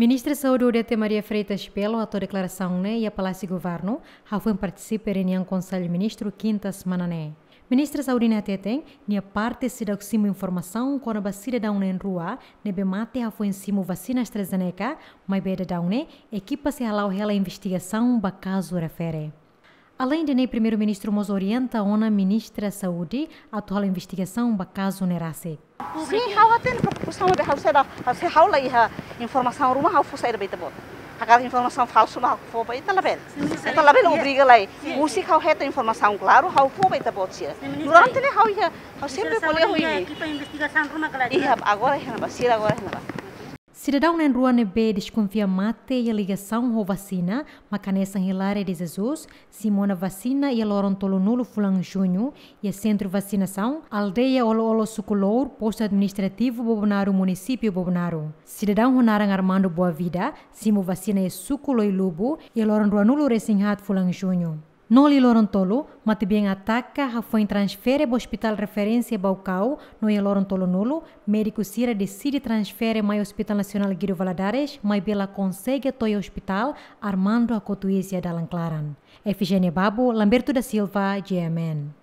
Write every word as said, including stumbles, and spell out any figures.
Ministra Saúde Odete Maria Freitas Belo hato'o deklarasaun ne'e iha Palásiu Governu, hafoin partisipa reuniaun Konsellu Ministru kinta semana ne'e. Ministra Saúde ne'e hateten, nia parte seidauk simu informasaun kona-ba sidadaun na'in-rua ne'ebé mate hafoin simu vasina AstraZeneca, maibé daudaun ne'e ekipa sei hala'o hela investigasaun ba kazu refere. Aleinde ne'e, Primeiru-Ministru mós orienta ona Ministra Saúde atu hala'o investigasaun ba kazu ne'e rasik. Sin, ha'u hatene preokupasaun, maibé ha'u seidauk, ha'u sei, ha'u la iha informasaun ruma ha'u fó saida ba ita-boot. Hakarak informasaun falsu mak ha'u fó ba ita labele. Sin, Ministra, ita labele, sin, obriga lai. Sin. Husik ha'u hetan informasaun klaru, ha'u fó ba ita-boot sira. Sin, Ministra. Durante ne'e ha'u iha, ha'u sempre ko'alia ho imi. Ekipa investigasaun ruma kala. Iha, agora iha ne'ebá, sira agora iha ne'ebá. Sidadaun na'in-rua ne'ebé deskonfia mate iha ligasaun ho vasina, mak hanesan Hilária de Jesus, simu ona vasina iha loron tolunulu fulan Juñu, iha sentru vasinasaun, aldeia Olo-Olo, suku Lour, postu administrativu Bobonaro, munisípiu Bobonaro. Sidadaun ho naran Armando Boavida, simu vasina iha suku Loilubu, iha loron ruanulu-resin-haat fulan Juñu. No liu loron tolu, matebian ataka hafoin transfere ba Hospital Referénsia Baucau, no iha loron tolunulu, médiku sira deside transfere mai Hospital Nasionál Guido Valadares, maibé la konsege to'o iha ospitál, Armando hakotu iis iha dalan klaran. Efigénia Babo, Lamberto da Silva, G M N.